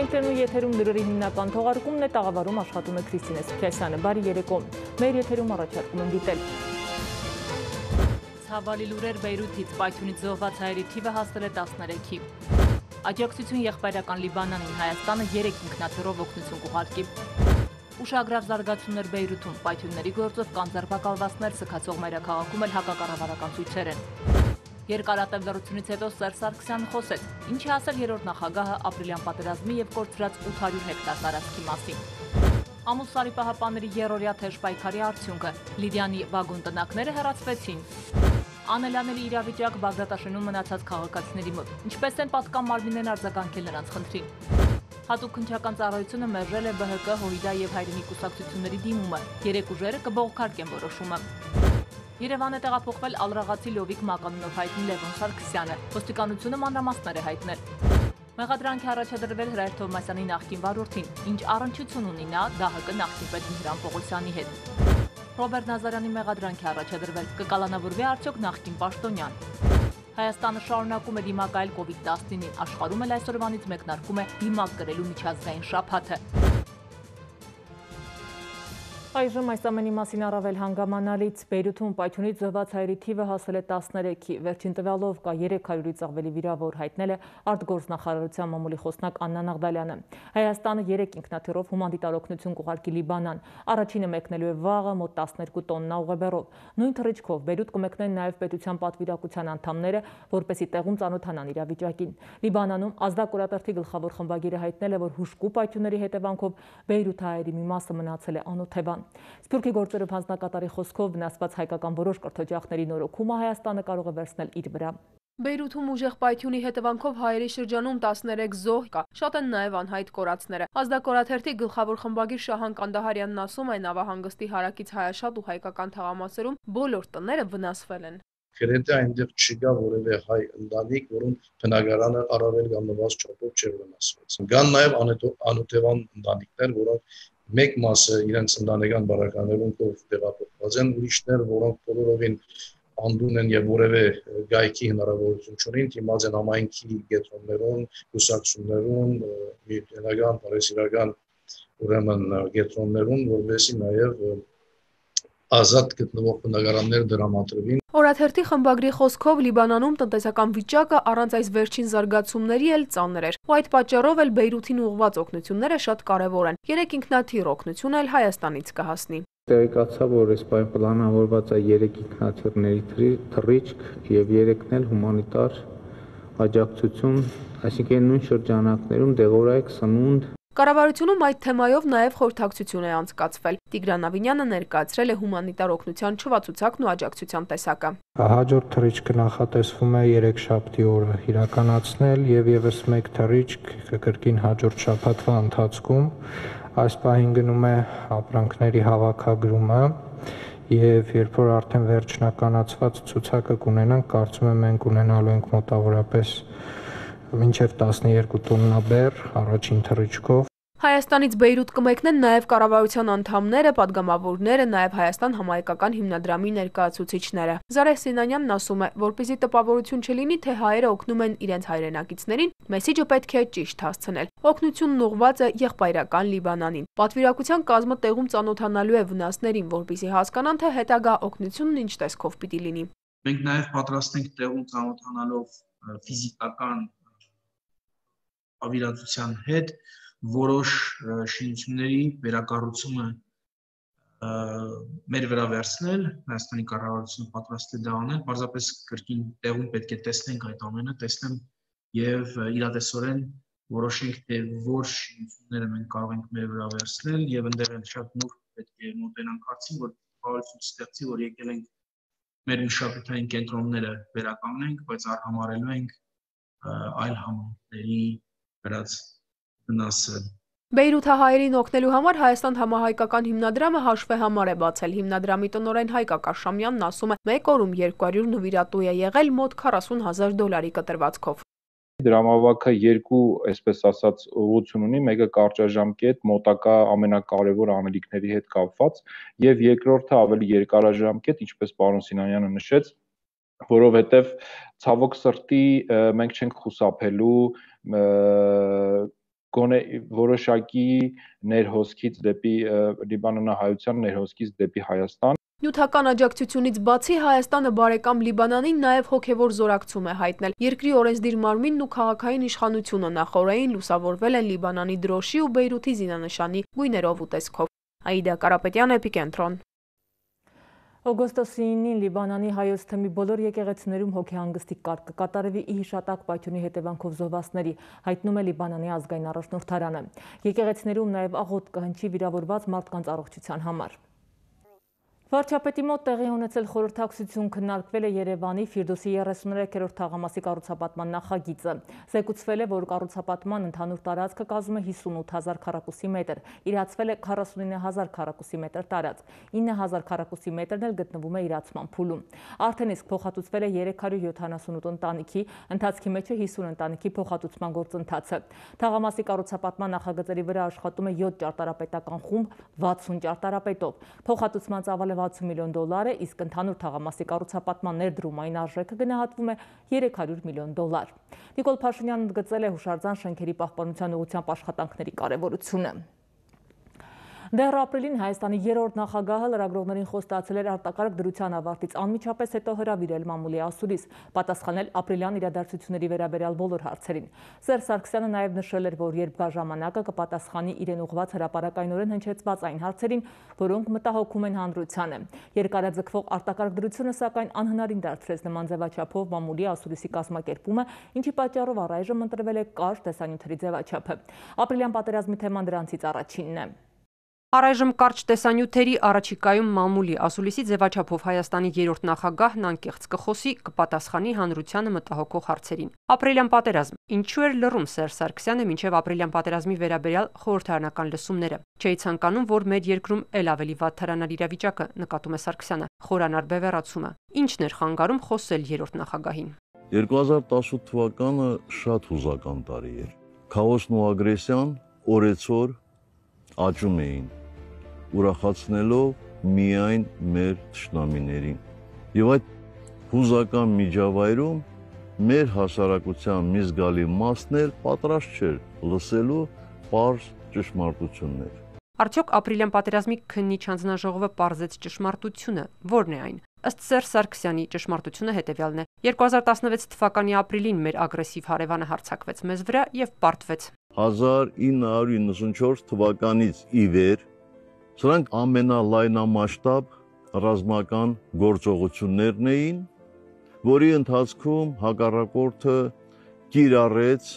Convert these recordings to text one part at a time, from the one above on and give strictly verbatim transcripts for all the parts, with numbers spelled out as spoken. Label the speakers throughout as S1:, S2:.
S1: Ենք եթերում լուրերի հիմնական թողարկումն է, տաղավարում աշխատում է Քրիստինե Սուքիասյանը։ Բարի երեկո։ Մեր եթերում առաջարկում եմ դիտել։ Ցավալի լուրեր Բեյրութից, Պայթյունից զոհված հայերի թիվը հասել է տասներեքի։ Աջակցություն եղբայրական Լիբանանին, Հայաստանը երեք ինքնաթիռով օգնություն կուղարկի։ Ուշագրավ զարգացումներ Բեյրութում, Պայթյունների գործով կան ձերբակալվածներ, սգացող մայրաքաղաքում էլ հակակառավարական ցույցեր են։ Երկարատև լռությունից հետո Սերժ Սարգսյանը խոսեց, ինչի ասել երրորդ նախագահը ապրիլյան պատերազմի եւ կորցրած ութ հարյուր հեկտար տարածքի մասին։ Ամուսարի պահապանների երրորդյա թեժ պայքարի արդյունքը, Լիդիանի վագոն տնակները հեռացվեցին։ Անելանելի իրավիճակ Բաղդադաշենում մնացած քաղաքացիների մոտ, ինչպես են պատկան մարմիններն արձագանքել նրանց խնդրին։ Հատուկ քննչական ծառայությունը մերժել է Բ Հ Կ, Հույդա եւ Հայրենի կուսակցությունների դիմումը, երեք ուժերը կբողոքարկեն որոշումը։ Երևան է տեղափոխվել ալրաղացի Լովիկ մականունով հայտնի Լևոն Սարգսյանը, ոստիկանությունը մանրամասներ է հայտնել։ Մեղադրանք է առաջադրվել Հրայր Թովմասյանի նախկին վարորդին, ինչ առնչություն ունի նա Դ Հ Կ նախկին պետ Միհրան Պողոսյանի հետ։ Ռոբերտ Նազարյանի մեղադրանք է առաջադրվել, կկալանավորվի արդյոք նախկին պաշտոնյան։ Հայաստանը շարունակում է դիմակայել կովիդ տասնինին, աշխարհում էլ այսօրվանից մեկնարկում է դիմակ կրելու միջազգային շաբաթը։ Այժմ այս ամենի մասին առավել հանգամանալից Բեյրութում Պայթյունից զոհված հայերի թիվը հասել է տասներեքի, վերջին տվյալով կա երեք հարյուրից ավելի վիրավոր, հայտնել է արտգործնախարարության մամուլի խոսնակ Աննա Նաղդալյանը։ Հայաստանը երեք ինքնաթիռով հումանիտար օգնություն կուղարկի Լիբանան, առաջինը մեկնելու է վաղը մոտ տասներկու տոննա ուղեբեռով։ Նույն թռիչքով Բեյրութ կմեկնեն նաև պետության պատվիրակության անդամները, որպեսզի տեղում ծանոթանան իրավիճակին։ Լիբանանում ազդակորատերթի գլխավոր խմբագիրը հայտնել է, որ հուժկու պայթյունների հետևանքով Բեյրութ հայերի մի մասը մնացել է անօթևան։ Սփյուռքի գործերով հանձնակատարի խոսքով վնասված հայկական որոշ կրթօջախների նորոգումը Հայաստանը կարող է վերցնել իր վրա։
S2: Բեյրութում ուժեղ պայթյունի հետևանքով հայերի շրջանում տասներեք զոհ կա, շատ են նաև անհայտ կորածները։ Ազդակորաթերթի գլխավոր խմբագիր Շահան Կանդահարյանն ասում է, նավահանգստի հարակից հայաշատ ու հայկական թաղամասերում բոլոր տները վնասվել են։
S3: Գրեթե այնտեղ չկա որևէ հայ ընտանիք, որոնց բնակարանը առավել կամ նվազ չափով չէր վնասված։ Կան նաև անօթևան ընտանիքներ, որոնք մեկ մասը իրենց ընտանեկան բարականերում տեղափոխված են, ուրիշներ, որոնք բոլորովին անդուն են եւ որևէ գայքի հնարավորություն չունեն, դիմաց են համայնքի կենտրոններում, կուսակցություններում, միութենական, բարեսիրական ուրեմն կենտրոններում, որովհետեւ նաեւ ազատ գտնվող բնակարաններ դրամատրվին։
S2: Օրաթերթի խմբագրի խոսքով Լիբանանում տնտեսական վիճակը առանց այս վերջին զարգացումների էլ ծանր էր։ Ու այդ պատճառով էլ Բեյրութին ուղղված օգնությունները շատ կարևոր են։ Երեք ինքնաթիռ օգնություն էլ Հայաստանից կհասնի։
S4: Տեղեկացա, որ այս պայն պլանավորված է երեք ինքնաթիռների թռիչք եւ երեքն էլ հումանիտար աջակցություն, այսինքն նույն շրջանակներում դեղորայք սնունդ։
S2: Կառավարությունում այդ թեմայով նաև խորհրդակցություն է անցկացվել։ Տիգրան Ավինյանը ներկայացրել է հումանիտար օգնության չվացուցակն ու աջակցության տեսակը։
S4: Հաջորդ թռիչքը նախատեսվում է երեքշաբթի օրը իրականացնել եւ եւս մեկ թռիչք կրկին հաջորդ շաբաթվա ընթացքում։ Այս պահին գնում է ապրանքների հավաքագրումը եւ երբ որ արդեն վերջնականացված ցուցակը կունենանք, կարծում եմ մենք ունենալու ենք մոտավորապես մինչև տասներկու տոննա բեռ առաջին թռիչքով։
S2: Հայաստանից Բեյրութ կմեկնեն նաև կառավարության անդամները, падգամավորները, նաև Հայաստան համահայկական հիմնադրամի ներկայացուցիչները։ Զարեհ Սինանյանն ասում է, որպեսզի տպավորություն չլինի, թե հայերը օգնում են իրենց հայրենակիցներին, մեսիջը պետք է ճիշտ հասցնել։ Օգնությունն ուղղված է եղբայրական Լիբանանին։ Պատվիրակության կազմը տեղում ծանոթանալու է վնասներին, որպեսզի հասկանան, թե հետագա օգնությունն ինչ տեսքով պիտի լինի։
S5: Մենք նաև պատրաստ ենք տեղում ծանոթանալով ֆիզիկական ավիրացության հետ որոշ շինությունների վերակառուցումը մեր վրա վերցնել, Հայաստանի կառավարությունը պատրաստ է դա անել, պարզապես կրկին տեղում պետք է տեսնենք այդ ամենը, տեսնեմ եւ իրատեսորեն որոշենք, թե որ շինությունները մենք կարող ենք մեր վրա վերցնել եւ ընդեղ էլ շատ նուրբ պետք է մոտենանք հարցին, որ կառավարությունը ստեղծի, որ եկել ենք մեր մշակութային կենտրոնները վերականգնենք, բայց արհամարելու ենք այլ համայնքների վրաց վնասը։
S2: Բեյրութը հայերին օգնելու համար Հայաստան համահայկական հիմնադրամը հաշվեհամար է բացել։ Հիմնադրամի տնօրեն Հայկ Ակաշամյանն ասում է, մեկ օրում երկու հարյուր նվիրատու է եղել մոտ քառասուն հազար դոլարի կտրվածքով։
S6: Դրամավակը երկու, այսպես ասած, ուղղություն ունի, մեկը կարճաժամկետ, մոտակա ամենակարևոր անելիքների հետ կապված, եւ երկրորդը ավելի երկարաժամկետ, ինչպես պարոն Սինանյանը նշեց, որովհետեւ ցավոք սրտի մենք չենք խուսափելու գոնե որոշակի ներհոսքից դեպի լիբանանահայության ներհոսքից դեպի Հայաստան։
S2: Նյութական աջակցությունից բացի Հայաստանը բարեկամ Լիբանանին նաև հոգևոր զորակցում է հայտնել։ Երկրի օրենսդիր մարմինն ու քաղաքային իշխանությունը նախօրեին լուսավորվել են Լիբանանի դրոշի ու Բեյրութի զինանշանի գույներով ու տեսքով։ Աիդա Կարապետյան, Էպիկենտրոն։
S1: Օգոստոսի ինին Լիբանանի հայոց թեմի բոլոր եկեղեցիներում հոգեհանգստի կարգ կկատարվի ի հիշատակ պայթյունի հետևանքով զոհվածների, հայտնում է Լիբանանի ազգային առաջնորդարանը։ Եկեղեցիներում նաև աղոթք կհնչի վիրավորված մարդկանց առողջության համար։ Վարչապետի մոտ տեղի ունեցել խորհրդակցություն քննարկվել է Երևանի Ֆիրդուսի երեսուններորդ թաղամասի կառուցապատման նախագիծը։ Զեկուցվել է, որ կառուցապատման ընդհանուր տարածքը կազմում է հիսունութ հազար քառակուսի մետր, իրացվել է քառասունինը հազար քառակուսի մետր տարածք, ինը հազար քառակուսի մետրն էլ գտնվում է իրացման փուլում։ Արդեն իսկ փոխհատուցվել է երեք հարյուր յոթանասունութ ընտանիքի, ընթացքի մեջ է հիսուն ընտանիքի փոխհատուցման գործընթացը։ Թաղամասի կառուցապատման նախագծերի վրա աշխատում է յոթ ճարտարապետական խումբ վաթսուն ճարտարապետով։ Փոխհատուցման ծավալը վաթսուն միլիոն դոլար է, իսկ ընդհանուր թաղամասի կառուցապատման ներդրումային արժեքը գնահատվում է երեք հարյուր միլիոն դոլար։ Նիկոլ Փաշինյանն ընդգծել է հուշարձան շենքերի պահպանության ուղղությամբ աշխատանքների կարևորությունը։ Դեռ ապրիլին Հայաստանի երրորդ նախագահը լրագրողներին խոստացել էր արտակարգ դրության ավարտից անմիջապես հետո հրավիրել մամուլի ասուլիս, պատասխանել ապրիլյան իրադարձությունների վերաբերյալ բոլոր հարցերին։ Սերժ Սարգսյանը նաև նշել էր, որ երբ գա ժամանակը կպատասխանի իրեն ուղղված հրապարակայնորեն հնչեցված այն հարցերին, որոնք մտահոգում են հանրությանը։ Երկարաձգվող արտակարգ դրությունը սակայն անհնարին դարձրեց նման ձևաչափով մամուլի ասուլիսի կազմակերպումը, ինչի պատճառով առայժմ ընտրվել է կարճ տեսանյութերի ձևաչափը։ Ապրիլյան պատերազմի թեման դրանցից առաջինն է։
S7: Առայժմ կարճ տեսանյութերի առաջիկայում մամուլի ասուլիսի ձևաչափով Հայաստանի երրորդ նախագահն անկեղծ կխոսի, կպատասխանի հանրությանը մտահոգող հարցերին։ Ապրիլյան պատերազմ։ Ինչու էր լռում Սերժ Սարգսյանը մինչև ապրիլյան պատերազմի վերաբերյալ խորհրդարանական լսումները։ Չէի ցանկանում, որ մեր երկրում էլ ավելի վատ թարանար իրավիճակը, նկատում է Սարգսյանը։ Խորանար բևեռացումը։ Ինչն էր խանգարում խոսել երրորդ նախագահին։
S8: երկու հազար տասնութ թվականը շատ հուզական տարի էր։ Քաոսն ու ագրեսիան օրեցօր աճում էին, ուրախացնելով միայն մեր թշնամիներին։ Եվ այդ հուզական միջավայրում մեր հասարակության մի զգալի մասն էլ պատրաստ չէր լսելու պարզ ճշմարտություններ։
S7: Արդյոք ապրիլյան պատերազմի քննիչ հանձնաժողովը պարզեց ճշմարտությունը, ո՞րն է այն։ Ըստ Սերժ Սարգսյանի ճշմարտությունը հետևյալն է. երկու հազար տասնվեց թվականի ապրիլին մեր ագրեսիվ հարևանը հարձակվեց մեզ վրա եւ պարտվեց։
S8: հազար ինը հարյուր իննսունչորս թվականից ի վեր սրանք ամենալայնամասշտաբ ռազմական գործողություններն էին, որի ընթացքում հակառակորդը կիրառեց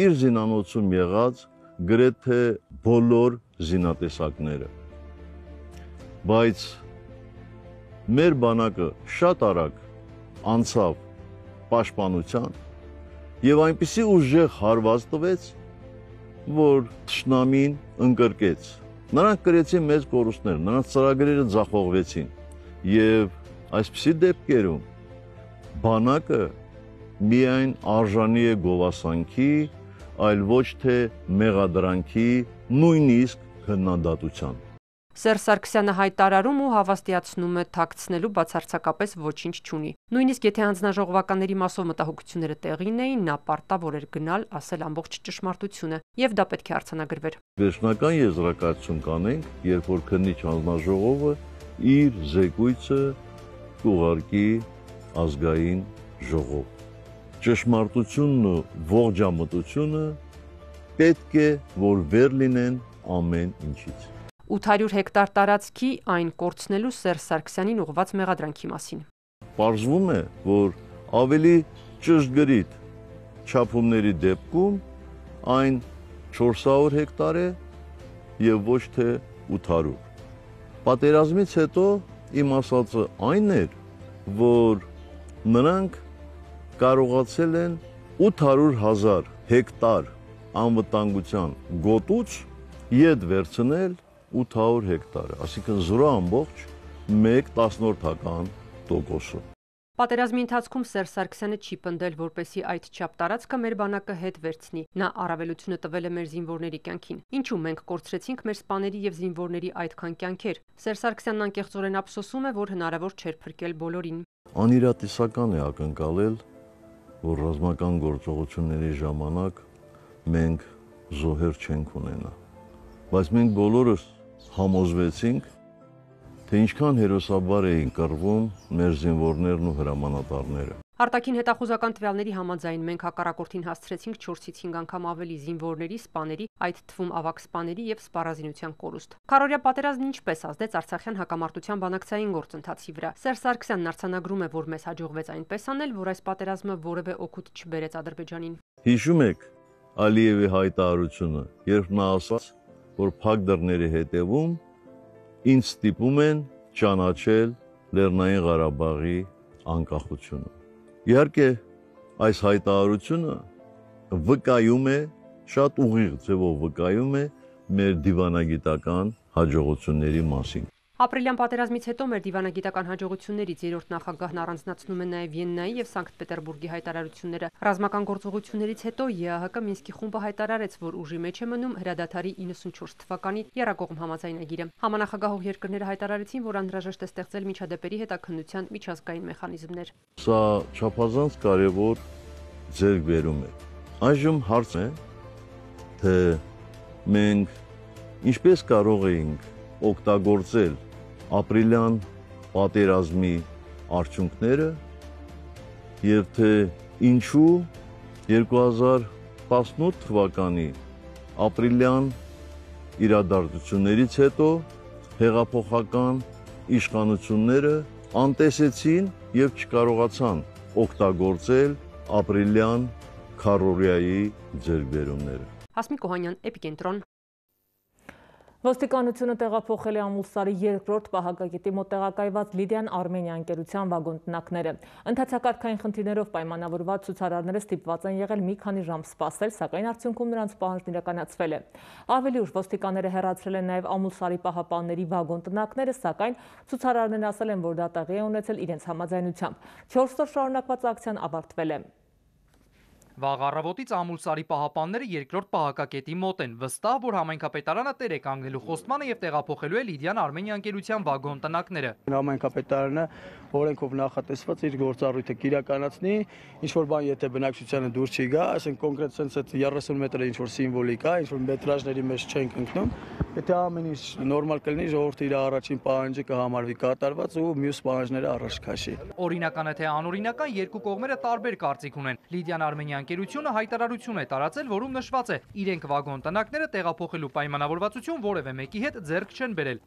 S8: իր զինանոցում եղած գրեթե բոլոր զինատեսակները։ Բայց մեր բանակը շատ արագ անցավ պաշտպանության եւ այնպիսի ուժեղ հարված տվեց, որ թշնամին ընկրկեց։ Նրանք կրեցին մեծ կորուստներ, նրանց ծրագրերը ձախողվեցին եւ այսպիսի դեպքերում բանակը միայն արժանի է գովասանքի, այլ ոչ թե մեղադրանքի, նույնիսկ քննադատության։
S7: Սերժ Սարգսյանը հայտարարում ու հավաստիացնում է թաքցնելու բացարձակապես ոչինչ չունի։ Նույնիսկ եթե հանձնաժողովականների մասով մտահոգությունները տեղին էին, նա պարտավոր էր գնալ ասել ամբողջ ճշմարտությունը, եւ դա պետք է արձանագրվեր։
S8: Վերջնական եզրակացություն կանենք, երբ որ քննիչ հանձնաժողովը իր զեկույցը կուղարկի ազգային ժողով։ Ճշմարտությունն ու ողջամտությունը պետք է որ վեր լինեն ամեն ինչից։
S7: ութ հարյուր հեկտար տարածքի այն կորցնելու Սերժ Սարգսյանին ուղղված մեղադրանքի մասին։
S8: Պարզվում է, որ ավելի ճշգրիտ չափումների դեպքում այն չորս հարյուր հեկտար է եւ ոչ թե ութ հարյուր։ Պատերազմից հետո իմ ասածը այն էր, որ նրանք կարողացել են ութ հարյուր հազար հեկտար անվտանգության գոտուց ետ վերցնել ութ հարյուր հեկտարը, այսինքն զրո ամբողջ մեկ տասնորդական տոկոսը։
S7: Պատերազմի ընթացքում Սերժ Սարգսյանը չի պնդել, որպեսզի այդչափ տարածքը մեր բանակը հետ վերցնի։ Նա առավելությունը տվել է մեր զինվորների կյանքին։ Ինչու մենք կորցրեցինք մեր սպաների եւ զինվորների այդքան կյանքեր։ Սերժ Սարգսյանն անկեղծորեն ափսոսում է, որ հնարավոր չէր փրկել բոլորին։
S8: Անիրատեսական է ակնկալել, որ ռազմական գործողությունների ժամանակ մենք զոհեր չենք ունենա։ Բայց մենք բոլորս համոզվեցինք, թե ինչքան հերոսաբար էին կռվում մեր զինվորներն ու հրամանատարները։
S7: Արտաքին հետախուզական տվյալների համաձայն մենք հակառակորդին հասցրեցինք չորսից հինգ անգամ ավելի զինվորների, սպաների, այդ թվում ավագ սպաների եւ սպառազինության կորուստ։ Քարորիա պատերազմն ինչպես ազդեց Արցախյան հակամարտության բանակցային գործընթացի վրա։ Սերժ Սարգսյանն արձանագրում է, որ մեզ հաջողվեց այնպես անել, որ այս պատերազմը որևէ օգուտ չբերեց Ադրբեջանին։
S8: Հիշում եք Ալիևի հայտարարությունը, երբ նա ասաց, որ փակ դռների հետևում ինձ ստիպում են ճանաչել Լեռնային Ղարաբաղի անկախությունը։ Իհարկե, այս հայտարարությունը վկայում է, շատ ուղիղ ձևով վկայում է մեր դիվանագիտական հաջողությունների մասին։
S7: Ապրիլյան պատերազմից հետո մեր դիվանագիտական հաջողություններից երրորդ նախագահն առանձնացնում է նաև Վիեննայի եւ Սանկտ Պետերբուրգի հայտարարությունները։ Ռազմական գործողություններից հետո ԵԱՀԿ Մինսկի խումբը հայտարարեց, որ ուժի մեջ է մնում հրադադարի իննսունչորս թվականի եռակողմ համաձայնագիրը։ Համանախագահող երկրները հայտարարեցին, որ անհրաժեշտ է ստեղծել միջադեպերի հետաքննության միջազգային մեխանիզմներ։
S8: Սա չափազանց կարևոր ձեռքբերում է։ Այժմ հարցն է, թե մենք ինչպես կարող էինք օգտագործել ապրիլյան պատերազմի արդյունքները եւ թե ինչու երկու հազար տասնութ թվականի ապրիլյան իրադարձություններից հետո հեղափոխական իշխանությունները անտեսեցին եւ չկարողացան օգտագործել ապրիլյան քարորիայի ձեռքբերումները։
S7: Հասմիկ Օհանյան, Էպիկենտրոն։
S1: Ոստիկանությունը տեղափոխել է Ամուլսարի երկրորդ պահակագետի մոտ տեղակայված Լիդիան Արմենիա ընկերության վագոն տնակները։ Ընթացակարգային խնդիրներով պայմանավորված ցուցարարները ստիպված են եղել մի քանի ժամ սպասել, սակայն արդյունքում նրանց պահանջն իրականացվել է։ Ավելի ուշ ոստիկանները հեռացրել են նաև Ամուլսարի պահապանների վագոն տնակները, սակայն ցուցարարներն ասել են, որ դա տեղի է ունեցել իրենց համաձայնությամբ։ չորս օր շարունակված ակցիան ավարտվել է։
S9: Վաղ առավոտից Ամուլսարի պահապանները երկրորդ պահակակետի մոտ են, վստահ, որ համայնքապետարանը տեր է կանգնելու խոստմանը եւ տեղափոխելու է Լիդիան Արմենիա ընկերության վագոն տնակները։
S10: Համայնքապետարանը օրենքով նախատեսված իր գործառույթը կիրականացնի, ինչ որ բան եթե բնակչությանը դուրս չի գա, ասենք կոնկրետ sense այդ երեսուն մետրը ինչ որ սիմվոլիկ է, ինչ որ մետրաժների մեջ չենք ընկնում, եթե ամեն ինչ նորմալ կլինի, ժողովուրդը իր առաջին պահանջը կհամարվի կատարված ու մյուս պահանջները առաջ քաշի։
S9: Օրինական է թե անօրինական երկու կողմերը տարբեր կարծիք ունեն։ Լիդիան Արմենիա ընկերությունը հայտարարություն է տարածել, որում նշված է՝ իրենք վագոն տնակները տեղափոխելու պայմանավորվածություն որևէ մեկի հետ ձեռք չեն բերել։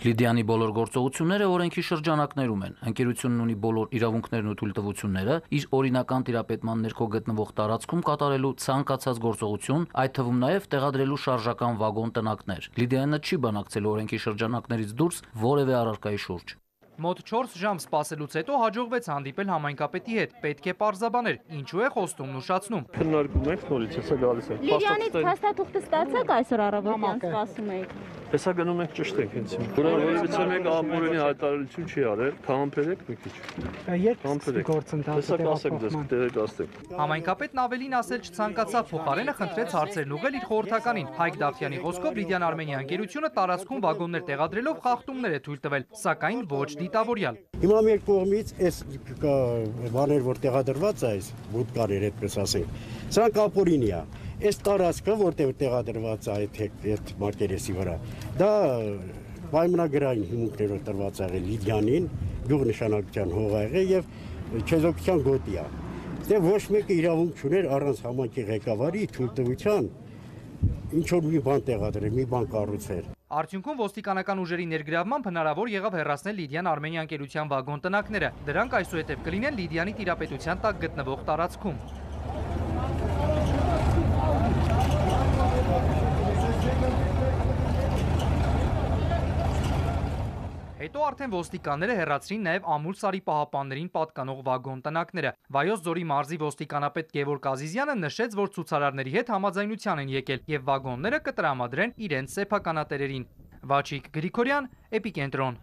S11: Լիդիանի բոլոր գործողությունները օրենքի շրջանակներում են։ Ընկերությունն ունի բոլոր իրավունքներն ու թույլտվությունները իր օրինական տիրապետման ներքո գտնվող տարածքում կատարելու ցանկացած գործողություն, այդ թվում նաև տեղադրելու շարժական վագոն տնակներ։ Լիդիանը չի բանակցել օրենքի շրջանակներից դուրս որևէ առարկայի շուրջ։
S9: Մոտ չորս ժամ սպասելուց հետո հաջողվեց հանդիպել համայնքապետի հետ, պետք է պարզաբաներ, ինչու է խոստումն ուշացնում։
S10: Քննարկում ենք նորից, հեսա գալիս ենք։
S12: Լիդիանից փաստաթուղթը ստացաք այսօր առավոտյան սպասում եք։
S10: Հեսա գնում ենք ճշտենք հենց։ Որովհետեւ մեկ ամբողջի հայտարարություն չի արել, համբերեք մի քիչ։
S13: Երբ գործընթացը
S10: տեղեկացնենք։
S9: Համայնքապետն ավելին ասել չցանկացավ, փոխարենը խնդրեց հարցերն ուղղել իր խորհրդականին։ Հայկ Դավթյանի խոսքով Լիդիան Արմենիա ընկերությունը տարածքում վագոններ տեղադրելով խախտումներ է թույլ տվել, սակայն ոչ դիտավորյալ։
S14: Հիմա մեր կողմից այս բաներ, որ տեղադրված է, այս բուտկարեր, այդպես ասենք, սրանք ապօրինի է։ Այս տարածքը, որտեղ տեղադրված է այդ մակերեսի վրա, դա պայմանագրային հիմունքներով տրված է եղել Լիդիանին, գյուղնշանակության հող է եղել եւ չեզոքության գոտի է։ Դե ոչ մեկը իրավունք չուներ առանց համայնքի ղեկավարի թույլտվության ինչ որ մի բան տեղադրել, մի բան կառուցել։
S9: Արդյունքում ոստիկանական ուժերի ներգրավմամբ հնարավոր եղավ հեռացնել Լիդիան Արմենիա ընկերության վագոն տնակները։ Դրանք այսուհետև կլինեն Լիդիանի տիրապետության տակ գտնվող տարածքում։ Հետո արդեն ոստիկանները հեռացրին նաև Ամուլսարի պահապաններին պատկանող վագոն տնակները։ Վայոց ձորի մարզի ոստիկանապետ Գևորգ Ազիզյանը նշեց, որ ցուցարարների հետ համաձայնության են եկել եւ վագոնները կտրամադրեն իրենց սեփականատերերին։ Վաչիկ Գրիգորյան, Էպիկենտրոն։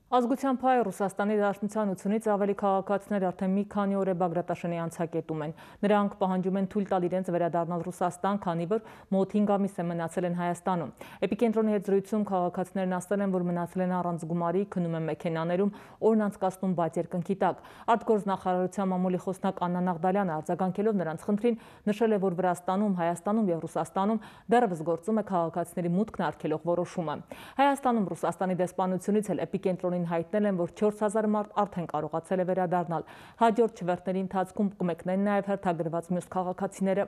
S1: Ազգության փայը Ռուսաստանի Դաշնության ութունից ավելի քաղաքացիներ արդեն մի քանի օր է Բագրատաշենի անցակետում են։ Նրանք պահանջում են թույլ տալ իրենց վերադառնալ Ռուսաստան, քանի որ մոտ հինգ ամիս է մնացել են Հայաստանում։ Էպիկենտրոնի հետ զրույցում քաղաքացիներն ասել են, որ մնացել են առանց գումարի, քնում են մեքենաներում, օրն անցկացնում բաց երկնքի տակ։ Արտգործնախարարության մամուլի խոսնակ Աննա Նաղդալյանը արձագանքելով նրանց խնդրին նշել է, որ Վրաստանում, Հայաստանում եւ Ռուսաստանում դեռևս գործում է քաղաքացիների մուտքն արգելող որոշումը։ Հայաստանում Ռուսաստանի դեսպանությունից էլ էպիկենտրոնի հայտնել են, որ չորս հազար մարդ արդեն կարողացել է վերադառնալ։ Հաջորդ չվերթների ընթացքում կմեկնեն նաև հերթագրված մյուս քաղաքացիները։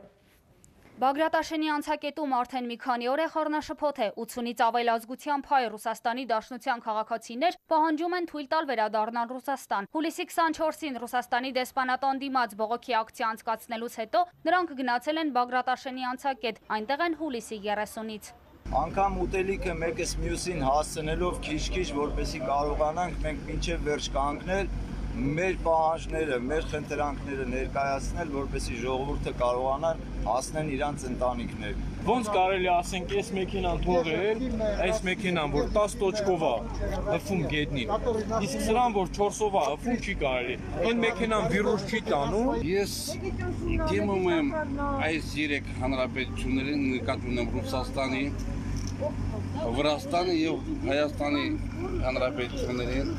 S15: Բագրատաշենի անցակետում արդեն մի քանի օր է խառնաշփոթ է, ութունից ավել ազգության փայ Ռուսաստանի Դաշնության քաղաքացիներ պահանջում են թույլ տալ վերադառնալ Ռուսաստան։ Հուլիսի քսանչորսին Ռուսաստանի դեսպանատան դիմաց բողոքի ակցիա անցկացնելուց հետո նրանք գնացել են Բագրատաշենի անցակետ, այնտեղ են հուլիսի երեսունից։
S16: Անգամ ուտելիքը մեկս մյուսին հասցնելով քիչ-քիչ, որպեսզի կարողանանք մենք մինչև վերջ կանգնել, մեր պահանջները, մեր խնդրանքները ներկայացնել, որպեսզի ժողովուրդը կարողանան հասնեն իրանց ընտանիքներ։
S17: Ոնց կարելի ասենք, այս մեքենան թողել, այս մեքենան, որ տասը տոճկով է հվում գետնին, իսկ սրան, որ չորսով է հվում, չի կարելի։ Այն մեքենան վիրուս չի տանում։
S18: Ես դիմում եմ այս երեք հանրապետություններին, նկատի ունեմ Ռուսաստանի, Վրաստանի եւ Հայաստանի հանրապետություններին,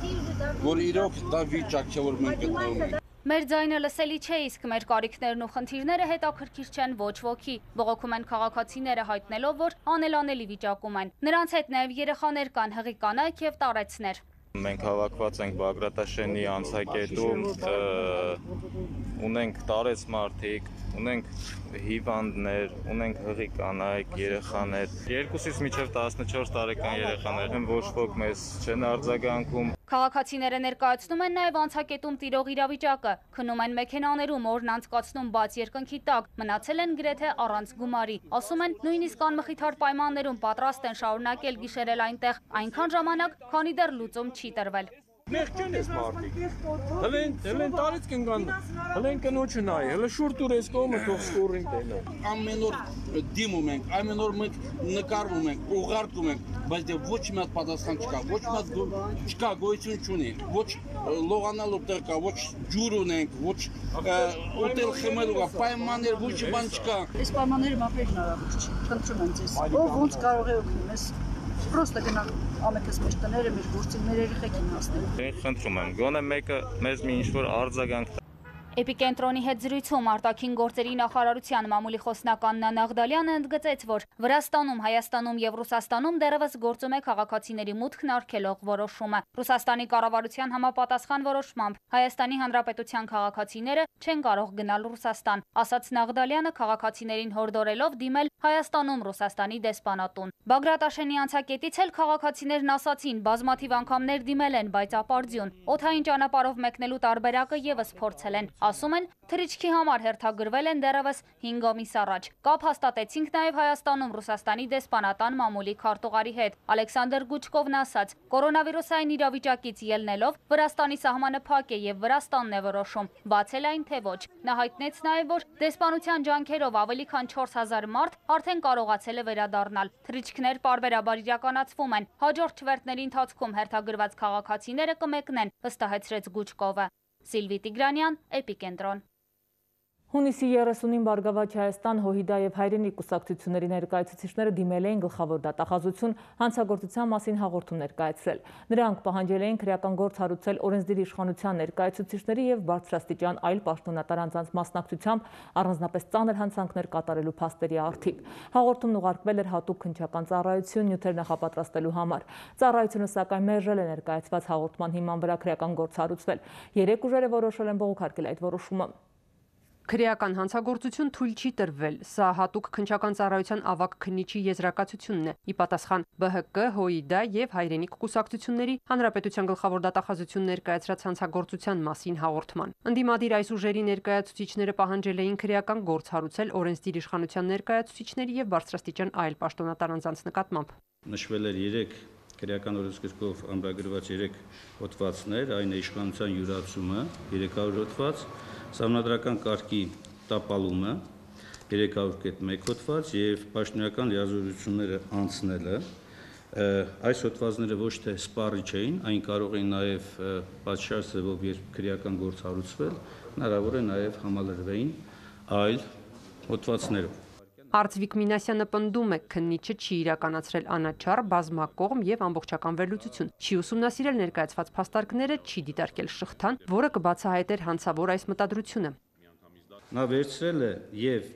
S18: որ իրոք դա վիճակ չէ, որ մենք գտնվում ենք։
S15: Մեր ձայնը լսելի չէ, իսկ մեր կարիքներն ու խնդիրները հետաքրքիր չեն ոչ ոքի։ Բողոքում են քաղաքացիները հայտնելով, որ անելանելի վիճակում են։ Նրանց հետ նաև երեխաներ կան, հղի կանայք եւ տարեցներ։
S19: Մենք հավաքված ենք Բագրատաշենի անցակետում, ունենք տարեց մարդիկ, ունենք հիվանդներ, ունենք հղի կանայք, երեխաներ, երկուսից մինչև տասնչորս տարեկան երեխաներ, ոչ ոք մեզ չեն արձագանքում։
S15: Քաղաքացիները ներկայացնում են նաև անցակետում տիրող իրավիճակը, քնում են մեքենաներում, օրն անցկացնում բաց երկնքի տակ, մնացել են գրեթե առանց գումարի։ Ասում են, նույնիսկ անմխիթար պայմաններում պատրաստ են շարունակել գիշերել այնտեղ այնքան ժամանակ, քանի դեռ լուծում չի տրվել։
S17: Մեղ չեն ես մարդիկ, հլեն, հլեն տարից կնգան, հլեն կնոչը նայի, հլը շուր տուր ես կողմը թող սկորին տենը։
S18: Ամեն օր դիմում ենք, ամեն օր մենք նկարվում ենք, ուղարկում ենք, բայց դե ոչ մի հատ պատասխան չկա, ոչ մի հատ չկա, գոյություն չունի, ոչ լողանալու տեղ կա, ոչ ջուր ունենք, ոչ ուտել խմելու կա, պայմաններ, ոչ բան չկա։
S20: Այս պայմանները մապեր հնարավոր չի, խնդրում եմ ձեզ, ով ոնց կարող է օգնել մեզ։ Պրոստը գնանք ամենքս մեր տները, մեր գործին, մեր երեխեքին հասնել։
S19: Խնդրում եմ, գոնե մեկը մեզ մի ինչ-որ արձագանք։
S15: Էպիկենտրոնի հետ զրույցում արտաքին գործերի նախարարության մամուլի խոսնակ Աննա Նաղդալյանը ընդգծեց, որ Վրաստանում, Հայաստանում եւ Ռուսաստանում դեռևս գործում է քաղաքացիների մուտքն արգելող որոշումը։ Ռուսաստանի կառավարության համապատասխան որոշմամբ Հայաստանի Հանրապետության քաղաքացիները չեն կարող գնալ Ռուսաստան, ասաց Նաղդալյանը քաղաքացիներին հորդորելով դիմել Հայաստանում Ռուսաստանի դեսպանատուն։ Բագրատաշենի անցակետից էլ քաղաքացիներն ասացին, բազմաթիվ անգամներ դիմել են, բայց ապարդյուն։ Օդային ճանապարհով մեկնելու տարբերակը եւս փորձել են։ Ասում են, թռիչքի համար հերթագրվել են դեռևս հինգ ամիս առաջ։ Կապ հաստատեցինք նաև Հայաստանում Ռուսաստանի դեսպանատան մամուլի քարտուղարի հետ։ Ալեքսանդր Գուչկովն ասաց, կորոնավիրուսային իրավիճակից ելնելով Վրաստանի սահմանը փակ է եւ Վրաստանն է որոշում, բացել այն թե ոչ։ Նա հայտնեց նաև, որ դեսպանության ջանքերով ավելի քան չորս հազար մարդ արդեն կարողացել է վերադառնալ։ Թռիչքներ պարբերաբար իրականացվում են։ Հաջորդ չվերթների ընթացքում հերթագրված քաղաքացիները կմեկնեն, վստահեցրեց Գուչկովը։ Սիլվի Տիգրանյան, Էպիկենտրոն։
S1: Հունիսի երեսունին Բարգավաճ Հայաստան, ՀՅԴ եւ Հայրենիք կուսակցությունների ներկայացուցիչները դիմել էին գլխավոր դատախազություն հանցագործության մասին հաղորդում ներկայացրել։ Նրանք պահանջել էին քրեական գործ հարուցել օրենսդիր իշխանության ներկայացուցիչների եւ բարձրաստիճան այլ պաշտոնատար անձանց մասնակցությամբ առանձնապես ծանր հանցանքներ կատարելու փաստերի առթիվ։ Հաղորդումն ուղարկվել էր հատուկ քննչական ծառայություն նյութեր նախապատրաստելու համար։ Ծառայությունը սակայն մերժել է ներկայացված հաղորդման հիման վրա քրեական գործ հարուցվել։ Երեք ուժերը որոշել են բողոքարկել այդ որոշումը։
S7: Քրեական հանցագործություն թույլ չի տրվել, սա հատուկ քննչական ծառայության ավագ քննիչի եզրակացությունն է, ի պատասխան ԲՀԿ, ՀՅԴ եւ Հայրենիք կուսակցությունների Հանրապետության գլխավոր դատախազություն ներկայացրած հանցագործության մասին հաղորդման։ Ընդդիմադիր այս ուժերի ներկայացուցիչները պահանջել էին քրեական գործ հարուցել օրենսդիր իշխանության ներկայացուցիչների եւ բարձրաստիճան այլ պաշտոնատար անձանց նկատմամբ։
S21: Նշվել էր երեք քրեական օրենսգրքով ամրագրված երեք հոդվածներ, այն է իշխանության յուրացումը երեք հարյուր հոդված, Սահմանադրական կարգի տապալումը երեք հարյուր կետ մեկ հոդված եւ պաշտոնական լիազորությունները անցնելը Այս հոդվածները ոչ թե սպառիչ էին, այն կարող էին նաև պատշաճ ձևով երբ քրեական գործ հարուցվել, հնարավոր է նաև համալրվեին այլ հոդվածներով։
S7: Արծվիկ Մինասյանը պնդում է, քննիչը չի իրականացրել անաչառ, բազմակողմ եւ ամբողջական վերլուծություն, չի ուսումնասիրել ներկայացված փաստարկները, չի դիտարկել շղթան, որը կբացահայտեր հանցավոր այս մտադրությունը։
S21: Նա վերցրել է եւ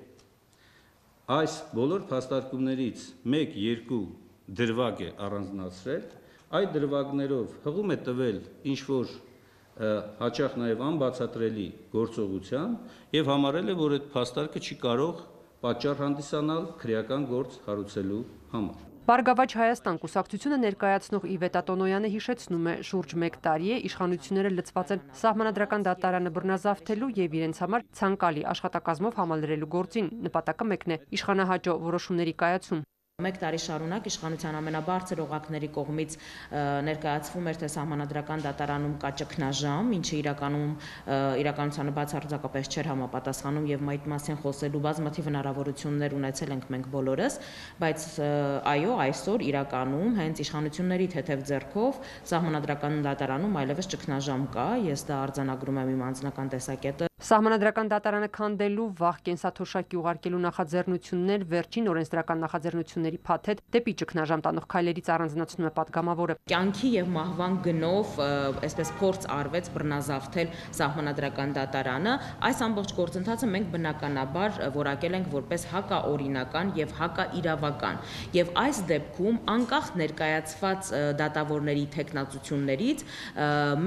S21: այս բոլոր փաստարկումներից մեկ-երկու դրվագ է առանձնացրել, այդ դրվագներով հղում է տվել ինչ-որ հաճախ նաև անբացատրելի գործողության եւ համարել է, որ այդ փաստարկը չի կարող պատճառ հանդիսանալ քրեական գործ հարուցելու համար։
S7: Բարգավաճ Հայաստան կուսակցությունը ներկայացնող Իվետա Տոնոյանը հիշեցնում է, շուրջ մեկ տարի է իշխանությունները լծված են Սահմանադրական դատարանը բռնազավթելու եւ իրենց համար ցանկալի աշխատակազմով համալրելու գործին, նպատակը մեկն է՝ իշխանահաճո որոշումների կայացում։
S3: Մեկ տարի շարունակ իշխանության ամենաբարձր օղակների կողմից ներկայացվում էր, թե Սահմանադրական դատարանում կա ճգնաժամ, ինչը իրականում իրականությանը բացարձակապես չէր համապատասխանում եւ այդ մասին խոսելու բազմաթիվ հնարավորություններ ունեցել ենք մենք բոլորս, բայց այո, այսօր իրականում հենց իշխանությունների թեթև ձեռքով Սահմանադրական դատարանում այլևս ճգնաժամ կա, ես դա արձանագրում եմ իմ անձնական տեսակետը։
S7: Սահմանադրական դատարանը քանդելու, վաղ կենսաթոշակի ուղարկելու նախաձեռնություններ, վերջին օրենսդրական նախաձեռնությունների փաթեթ դեպի ճգնաժամ տանող քայլերից առանձնացնում է падգամավորը։
S3: Կյանքի եւ մահվան գնով այսպես փորձ արվեց բռնազավթել Սահմանադրական դատարանը։ Այս ամբողջ գործընթացը մենք բնականաբար որակել ենք որպես հակաօրինական եւ հակաիրավական։ Եվ այս դեպքում անկախ ներկայացված դատավորների թեկնածություններից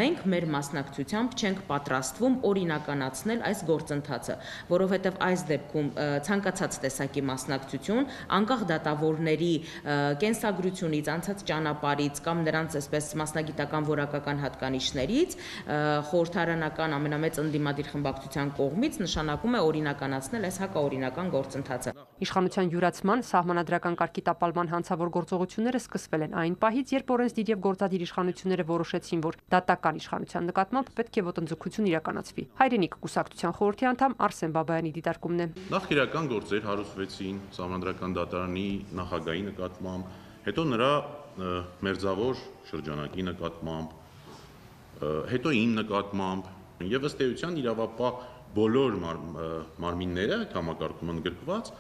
S3: մենք մեր մասնակցությամբ չենք պատրաստվում օրինականացնել այս գործընթացը, որովհետև այս դեպքում ցանկացած տեսակի մասնակցություն, անկախ դատավորների կենսագրությունից, անցած ճանապարհից կամ նրանց այսպես մասնագիտական որակական հատկանիշներից, խորհրդարանական ամենամեծ ընդդիմադիր խմբակցության կողմից նշանակում է օրինականացնել այս հակաօրինական գործընթացը։
S7: Իշխանության յուրացման, սահմանադրական կարգի տապալման հանցավոր գործողությունները սկսվել են այն պահից, երբ օրենսդիր եւ գործադիր իշխանությունները որոշեցին, որ դատական իշխանության նկատմամբ պետք է ոտնձգություն իրականացվի։ Հայրենիք կուսակցության խորհրդի անդամ Արսեն Բաբայանի դիտարկումն է։
S22: Նախքրեական գործեր հարուցվեցին Սահմանադրական դատարանի նախագահի նկատմամբ, հետո նրա մերձավոր շրջանակի նկատմամբ, հետո իմ նկատմամբ, եւ ըստ էության իրավապահ բոլոր մարմինները համակարգում ընդգրկված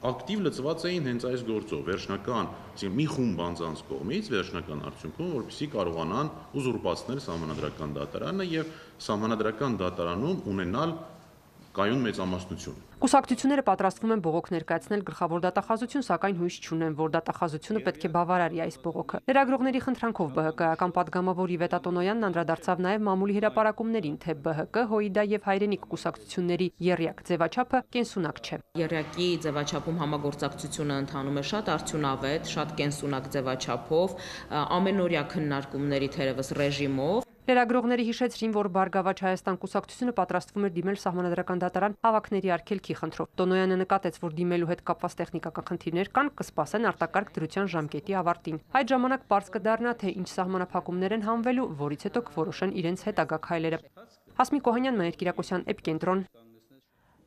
S22: ակտիվ լծված էին հենց այս գործով, վերջնական, այսինքն մի խումբ անձանց կողմից վերջնական արդյունքում, որպեսզի կարողանան ուզուրպացնել Սահմանադրական դատարանը եւ Սահմանադրական դատարանում ունենալ կայուն մեծամասնություն։
S7: Կուսակցությունները պատրաստվում են բողոք ներկայացնել գլխավոր դատախազություն, սակայն հույս չունեն, որ դատախազությունը պետք է բավարարի այս բողոքը։ Լրագրողների խնդրանքով ԲՀԿ-ական падգամավոր Իվետա Տոնոյանն անդրադարձավ նաև մամուլի հրապարակումներին, թե ԲՀԿ, ՀՅԴ եւ Հայրենիք կուսակցությունների եռյակ ձևաչափը կենսունակ չէ։
S3: Եռյակի ձևաչափում համագործակցությունը ընթանում է շատ արդյունավետ, շատ կենսունակ ձևաչափով, ամենօրյա քննարկումների թերևս ռեժիմով։
S7: Լրագրողները հիշեցրին, որ Բարգավաճ Հայաստան կուսակցությունը պատրաստվում էր դիմել Սահմանադրական դատարան հավաքների արգելքի խնդրով։ Տոնոյանը նկատեց, որ դիմելու հետ կապված տեխնիկական խնդիրներ կան, կսպասեն արտակարգ դրության ժամկետի ավարտին։ Այդ ժամանակ պարզ կդառնա, թե ինչ սահմանափակումներ են հանվելու, որից հետո կորոշեն իրենց հետագա քայլերը։ Հասմիկ Օհանյան, Մաներ Կիրակոսյան, Էպիկենտրոն։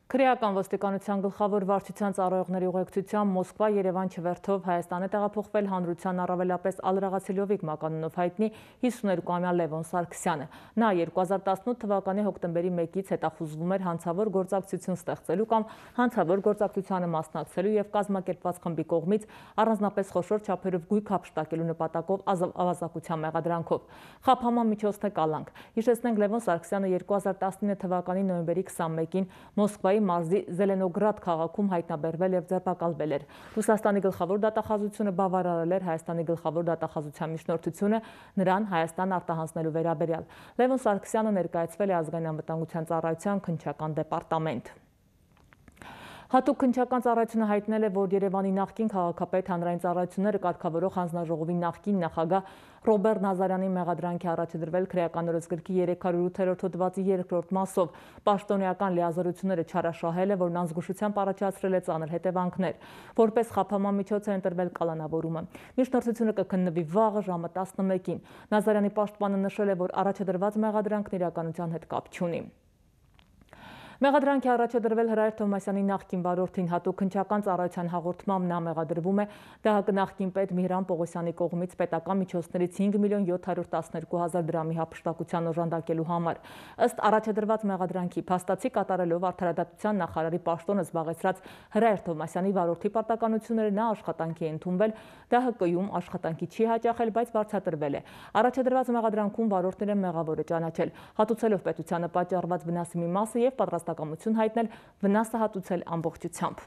S1: Քրեական ոստիկանության գլխավոր վարչության ծառայողների ուղեկցությամբ Մոսկվա Երևան չվերթով Հայաստան է տեղափոխվել հանրության առավելապես Ալրաղացիլովիկ մականունով հայտնի հիսուներկուամյա Լևոն Սարգսյանը։ Նա երկու հազար տասնութ թվականի հոկտեմբերի մեկից հետախուզվում էր հանցավոր գործակցություն ստեղծելու կամ հանցավոր գործակցությանը մասնակցելու եւ կազմակերպված խմբի կողմից առանձնապես խոշոր չափերով գույք հափշտակելու նպատակով ավազակության մեղադրանքով։ Խափանման միջոցն է կալանք։ Հիշեցնենք, Լևոն Սարգսյանը երկու հազար տասնինը թվականի նոյեմբերի քսանմեկին Մոսկվայի մարզի Զելենոգրադ քաղաքում հայտնաբերվել եւ ձերբակալվել էր։ Ռուսաստանի գլխավոր դատախազությունը բավարարել էր Հայաստանի գլխավոր դատախազության միջնորդությունը նրան Հայաստան արտահանձնելու վերաբերյալ։ Լևոն Սարգսյանը ներկայացվել է ազգային անվտանգության ծառայության քննչական դեպարտամենտ։ Հատուկ քննչական ծառայությունը հայտնել է, որ Երևանի նախկին քաղաքապետ հանրային ծառայությունները կարգավորող հանձնաժողովի նախկին նախագահ Ռոբերտ Նազարյանի մեղադրանքի առաջ է դրվել քրեական օրենսգրքի երեք հարյուր ութերորդ հոդվածի երկրորդ մասով։ Պաշտոնեական լիազորությունները չարաշահել է, որն անզգուշությամբ առաջացրել է ծանր հետևանքներ։ Որպես խափանման միջոց է ընտրվել կալանավորումը։ Միջնորդությունը կքննվի վաղը ժամը տասնմեկին։ Նազարյանի պաշտպանը նշել է, որ առաջ է դրված մեղադրանքն իրականության հետ կապ չունի։ Մեղադրանքի առաջադրվել Հրայր Թովմասյանի նախկին վարորդին հատուկ քննչական ծառայության հաղորդմամբ նա մեղադրվում է ԴՀԿ նախկին պետ Միհրան Պողոսյանի կողմից պետական միջոցներից հինգ միլիոն յոթ հարյուր տասներկու հազար դրամի հափշտակության օժանդակելու համար։ Ըստ առաջադրված մեղադրանքի փաստացի կատարելով արդարադատության նախարարի պաշտոնը զբաղեցրած Հրայր Թովմասյանի վարորդի պարտականությունները նա աշխատանքի է ընդունվել, ԴՀԿ-ում աշխատանքի չի հաճախել, բայց վարձատրվել է։ Առաջադրված մեղադրանքում վարորդները մեղավոր է ճանաչել, հատուցելով պետությանը պատճառված վնասի մի մասը եւ պատրաստակամություն հայտնել վնասը հատուցել ամբողջությամբ։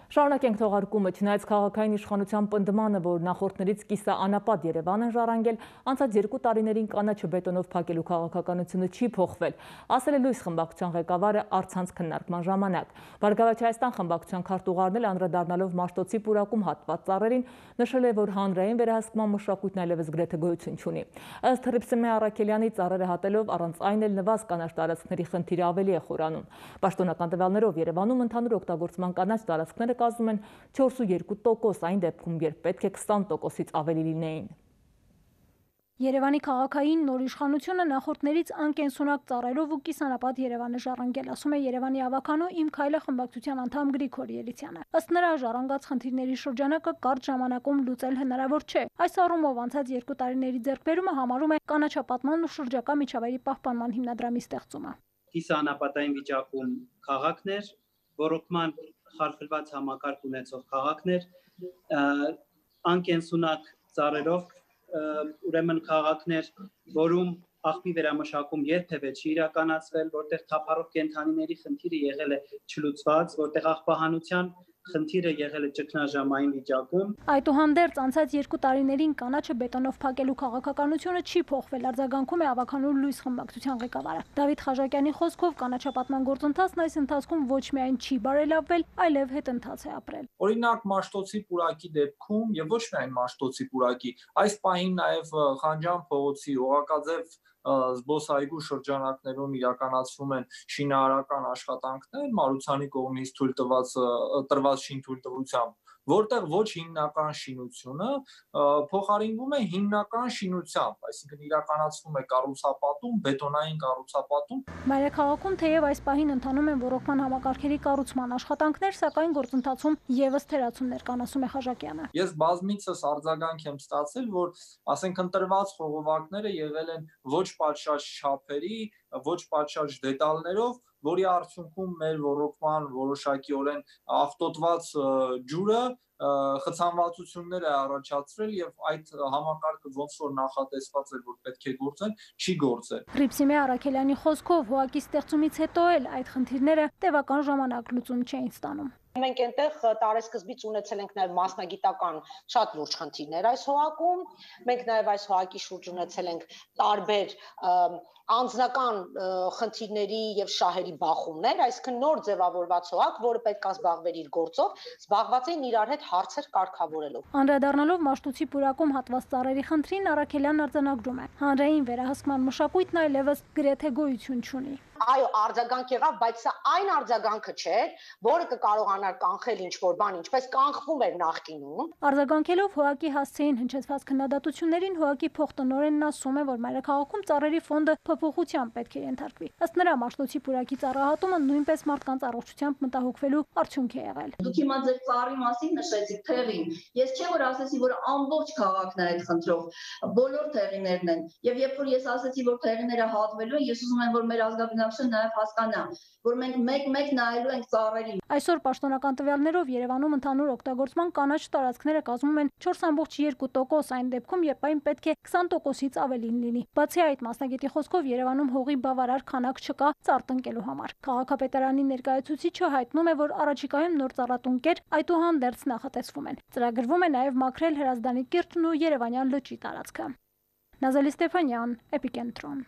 S1: Շարունակենք թողարկումը, չնայած քաղաքային իշխանության պնդմանը, որ նախորդներից կիսաանապատ Երևան են ժառանգել, անցած երկու տարիներին կանաչը բետոնով փակելու քաղաքականությունը չի փոխվել, ասել է Լույս խմբակցության ղեկավարը առցանց քննարկման ժամանակ։ Բարգավաճ Հայաստան խմբակցության քարտուղարն էլ անդրադառնալով Մաշտոցի պուրակում հատված ծառերին, նշել է, որ հանրային վերահսկման մշակույթն այլևս գրեթե գոյություն չունի։ Ըստ Հռիփսիմե Առաքելյանի ծառերը հատելով առանց այն էլ նվազ կանաչ տարածքների խնդիրը ավելի է խորանում։ Պաշտոնական տվյալներով Երևանում ընդհանուր օգտագործման կանաչ տարածքները կազմում են չորս ու երկու տոկոս, այն դեպքում, երբ պետք է քսան տոկոսից ավելի լինեին։
S4: Երևանի քաղաքային նոր իշխանությունը նախորդներից անկենսունակ ծառերով ու կիսանապատ Երևան է ժառանգել, ասում է Երևանի ավականու Իմ քայլը խմբակցության անդամ Գրիգոր Ելիցյանը։ Ըստ նրա, ժառանգած խնդիրների շրջանակը կարճ ժամանակում լուծել հնարավոր չէ։ Այս առումով անցած երկու տարիների ձեռքբերումը համարում է կանաչապատման ու շրջակա միջավայրի պահպանման հիմնադրամի ստեղծումը։
S5: Կիսաանապատային վիճակում քաղաքներ, ռոռոկման խարխլված համակարգ ունեցող քաղաքներ, անկենսունակ ծառերով ուրեմն քաղաքներ, որում աղբի վերամշակում երբևէ չի իրականացվել, որտեղ թափառող կենդանիների խնդիրը եղել է չլուծված, որտեղ աղբահանության խնդիրը եղել է ճգնաժամային վիճակում։
S4: Այդուհանդերձ անցած երկու տարիներին կանաչը բետոնով փակելու քաղաքականությունը չի փոխվել, արձագանքում է ավականու Լույս խմբակցության ղեկավարը։ Դավիթ Խաչատյանի խոսքով կանաչապատման գործընթացն այս ընթացքում ոչ միայն չի բարելավվել, այլև հետընթաց է ապրել։
S23: Օրինակ Մաշտոցի պուրակի դեպքում եւ ոչ միայն Մաշտոցի պուրակի, այս պահին նաեւ Խանջան փողոցի Օղակաձև զբոսայգու շրջանակներում իրականացվում են շինարարական աշխատանքներ Մարությանի կողմից թույլ տված տրված շինթույլտվությամբ, որտեղ ոչ հիմնական շինությունը փոխարինվում է հիմնական շինությամբ, այսինքն իրականացվում է կառուցապատում, բետոնային կառուցապատում։
S4: Մայրաքաղաքում թեև այս պահին ընթանում են ռոռոկման համակարգերի կառուցման աշխատանքներ, սակայն գործընթացում եւս թերացումներ կան, ասում է Խաչատյանը։
S23: Ես բազմիցս արձագանք եմ ստացել, որ ասենք ընտրված խողովակները եղել են ոչ պատշաճ չափերի, ոչ պատշաճ դետալներով, որի արդյունքում մեր ռոռոկման որոշակիորեն աղտոտված ջուրը խցանվածություններ է առաջացրել եւ այդ համակարգը ոնց որ նախատեսված էր, որ պետք է գործեն, չի գործել։
S4: Հռիփսիմե Առաքելյանի խոսքով հոակի ստեղծումից հետո էլ այդ խնդիրները տևական ժամանակ լուծում չէին ստանում։
S24: Մենք այնտեղ տարեսկզբից ունեցել ենք նաև մասնագիտական շատ լուրջ խնդիրներ այս հոակում։ Մենք նաև այս հոակի շուրջ ունեցել ենք տարբեր անձնական խնդիրների եւ շահերի բախումներ, այսինքն նոր ձևավորված հոակ, որը պետք է զբաղվեր իր գործով, զբաղված էին իրար հետ հարցեր կարգավորելով։
S4: Անդրադառնալով Մաշտոցի պուրակում հատված ծառերի խնդրին Առաքելյանն արձանագրում է. հանրային վերահսկման մշակույթն այլևս գրեթե գոյություն չունի։
S24: Այո, արձագանք եղավ, բայց սա այն արձագանքը չէր, որը կկարողանար կանխել ինչ-որ բան, ինչպես կանխվում էր նախկինում։
S4: Արձագանքելով հոակի հասցեին հնչեցված քննադատություններին, հոակի փոխտնօրենն ասում է, որ մայրաքաղաքում ծառերի ֆոնդը փոփոխության պետք է ենթարկվի։ Ըստ նրա, Մաշտոցի պուրակի ծառահատումը նույնպես մարդկանց առողջությամբ մտահոգվելու արդյունք է եղել։
S25: Դուք հիմա ձեր ծառի մասին նշեցիք, թեղին։ Ես չէ որ ասեցի, որ ամբողջ քաղաքն է այդ խնդրով, բոլոր թեղիներն են։ Եվ երբ որ ես ասեցի, որ թեղիները հատվելու են, ես ուզում եմ, որ մեր ազգաբնակչությունը նաև հասկանա, որ մենք մեկ-մեկ նայելու ենք ծառերին։
S4: Այսօր պաշտոնական տվյալներով Երևանում ընդհանուր օգտագործման կանաչ տարածքները կազմում են չորս կόμμα երկու տոկոս, այն դեպքում, երբ այն պետք է քսան տոկոսից ավելին լինի։ Բացի այդ, մասնագետի խոսքով Երևանում հողի բավարար քանակ չկա ծառ տնկելու համար։ Քաղաքապետարանի ներկայացուցիչը հայտնում է, որ առաջիկայում նոր ծառատունկեր այդուհանդերձ նախատեսվում են։ Ծրագրվում է նաև մաքրել Հրազդանի կիրճն ու Երևանյան լճի տարածքը։ Նազելի Ստեփանյան, Էպիկենտրոն։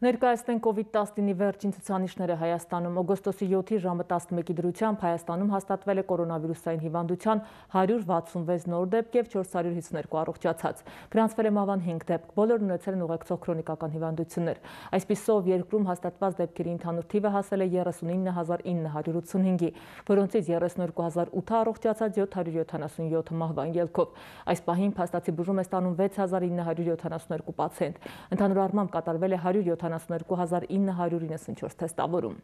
S1: Ներկայացնենք կովիդ տասնինի վերջին ցուցանիշները Հայաստանում։ Օգոստոսի յոթի ժամը տասնմեկի դրությամբ Հայաստանում հաստատվել է կորոնավիրուսային հիվանդության հարյուր վաթսունվեց նոր դեպք եւ չորս հարյուր հիսուներկու առողջացած։ Գրանցվել է մահվան հինգ դեպք, բոլորն ունեցել են ուղեկցող քրոնիկական հիվանդություններ։ Այսպիսով երկրում հաստատված դեպքերի ընդհանուր թիվը հասել է երեսունինը հազար ինը հարյուր ութսունհինգի, որոնցից երեսունհինգ հազար ութը առողջացած, յոթ հարյուր յոթանասունյոթը մահվան ելքով։ Այս պահին փաստացի բուժում է ստանում վեց հազար ինը հարյուր յոթանասունհինգ պացիենտ։ Ընդհանուր առմամբ կատարվել է հարյուր յոթանասուններկու հազար ինը հարյուր իննսունչորս թեստավորում։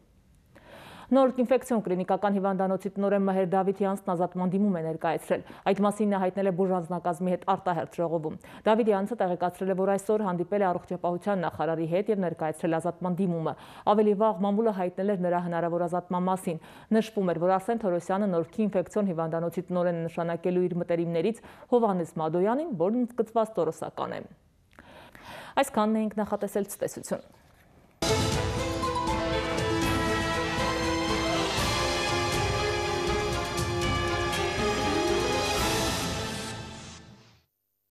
S1: Նոր ինֆեկցիոն կլինիկական հիվանդանոցի տնօրեն Մհեր Դավիթյանցն ազատման դիմում է ներկայացրել։ Այդ մասին նա հայտնել է բուժանձնակազմի հետ արտահերթ ժողովում։ Դավիթյանցը տեղեկացրել է, որ այսօր հանդիպել է առողջապահության նախարարի հետ եւ ներկայացրել ազատման դիմումը։ Ավելի վաղ մամուլը հայտնել էր նրա հնարավոր ազատման մասին։ Նշվում էր, որ Արսեն Թորոսյանը Նորքի ինֆեկցիոն հիվանդանոցի տնօրենը նշանակելու իր մտերիմներից Հովհաննես Մադոյանին, որն ընդգծված տորոսական է։ Այսքանն էինք նախատեսել ցտեսություն։